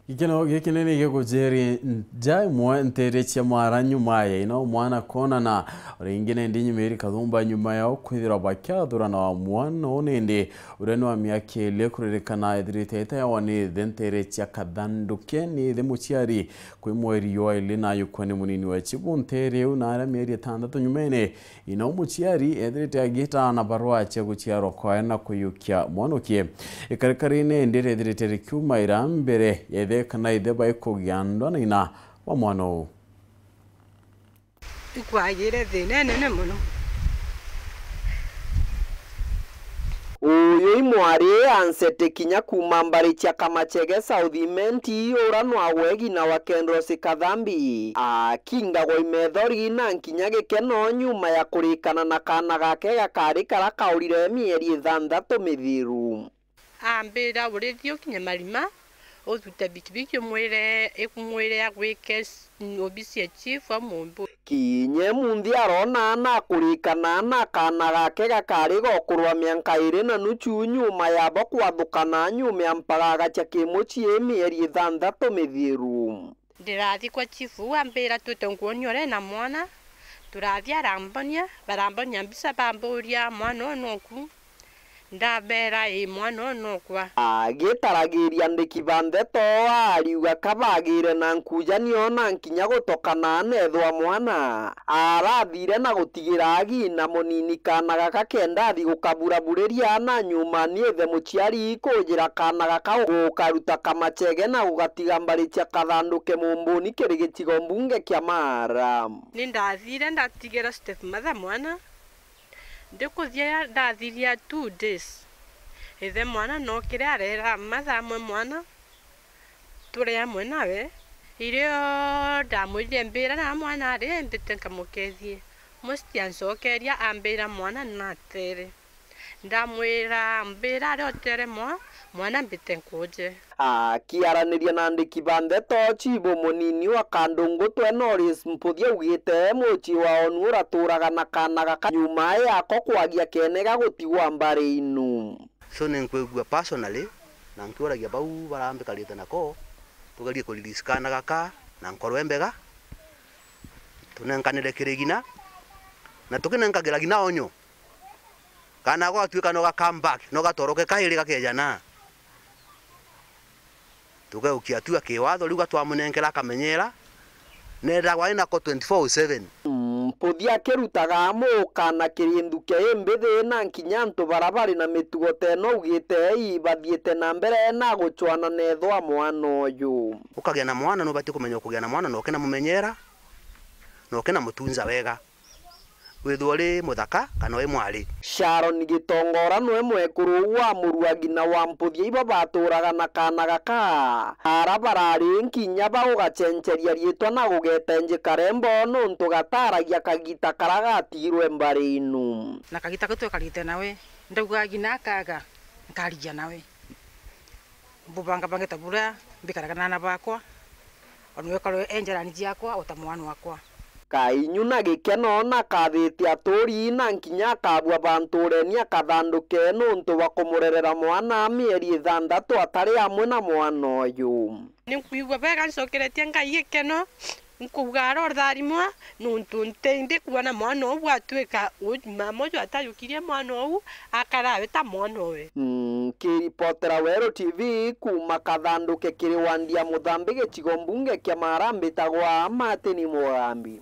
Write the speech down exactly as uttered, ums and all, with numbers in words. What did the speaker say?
Gikeno gikinene gigujiri nja imwe ntere cia Mara nyuma ya ina o mwana kwonana. Ringi nindi nyumiri kathumba nyuma yao kwithirwa bakiathurana wa mwana uu nindi uria ni wa miaka iiri kuririkana ethirite etayawa ni ithe ntere cia Kathanduke ni ithe muciari kwi mweri jwa iiri na ayukua ni munini wa chibu ntere iu na aria mieri itantatu nyumene. Ina umuciari ethirite agiita na barua cia guciarwa kwawe na kuiyukia mwanukie. Ikarikarine indi riethirite rikiumaira mbere ya ithe kana ithe baikugia ndwa na ina wa mwana uu. Ikwagire thina inene mono. Uyu i mwari Anseti kinya kuuma mbari cia Kamachege South Imenti, ura nwagwe gina wa Kendros Kathambi, akingagwa imethori na nkinya gikeno nyuma ya kurikana na kaana gake gakari kara kaurire mieri ithanthatu mithiru. Ambira, "Urithi ukinye Marima, uthute bikibiki umwire, ikumwire agwike s-, obisi ya chief wa Mumbu." Kinya munthi arona na akurikana na kaana gake gakari gokurwa mianka iiri na nuchu nyuma yabo kwathukana nyuma ya mpagaga cia kimucii mieri ithanthatu mithiru. Ndirathi kwa chief uu ambira, "Twite nkuonia uria ena mwana." Turathi arambonia, barambonia mbica bamburia, "Mwana uu nuku?" Ndabera, "Ii, mwana uu nokwa." Agitaragiria andiki ba ndeto, ariuga kabagire na nkujanio na nkinya gutokana neethwa mwana arathire na gutigira agi na munini kaana gaka kenda athi gukaburaburiria na nyuma ni ithe muciari kujira kaana gaka gukaruta Kamachege na gugatiga mbari cia Kathanduke Mumbuni kiri gicigo mbunge kia Mara. Ni ndathire ndatigira stepmother mwana. Ndikuthia ndathiria two days, ithe mwana nokire arera mathaa amwe mwana, turi amwe nawe. Irio ndamwirire mbira na mwana ari mbite nkamukethie. Musti ancokeria ambira mwana natere. Ndamwira mbira ari otere mwa, mwana mbite nkuje. Akiaraniria na andiki ba ndeto, chibu munini wa Kandungutwe Norris Mputhia augite mucii wa onu uraturaga na kaana gaka nyuma yako kwagia kenega gutigwa mbari inu. So ni nkwigua personally, na nkiuragia bau barambikarite nako, tugerie ku release kaana gaka na nkoro imbega, tunenkanire kiri gina, na tukinenkagira gina onyo. Kana gwatuika no ga come back, no gatoroke kairi gakeja na. Tugeukia atua kiwatho, riu gatwamunenkera akamenyera, nethagwa inako twenty-four seven. Mputhia akirutaga amuka na kiri nthuke imbithi na nkinya antu bara bari na mitugo teno augite ibathiite na mbere na gucwana neethwa mwana uyu. Ukagia na mwana, nubati kumenya ukugia na mwana, na ukina mumenyera, na ukina mutunza wega. Withwe uri muthaka kana uri mwari. Sharon Gitongora nwe mwekuru wa muruagi na wa Mputhia ibo baturaga na kaana gaka. Ara barari nkinya ba ugacenceria riitwa na gugeta Nji Karembo nuntu gataragia kagita kara gatigirwe mbari inu. Na kagita kau twekarite nawe, ndaugaga ngina akaga, nkarigia nawe. Mbubangabangite buria mbikaraga na aana bakwa, o nawe ukorwe e njarani ciakwa o ta mwana wakwa. Kainyu na gikeno na kathite aturi na nkinya akabua bantureni akathanduke nuntu bwa kumurerera mwana mieri ithanthatu atari amwe na mwana uyu. Ni nkwigua bega, ncokeretie Ngai gikeno. Nkuuga arotharimwa, nuntu nti ndi kwona mwana uu bwatuika u-, mama uju atajukirie mwana uu, akarawe ta mwana owe. Nkiripotera Weru T V kuuma Kathanduke kiri wandi ya Muthambi gicigo mbunge kia Mara, mbitagwa Martin Mugambi.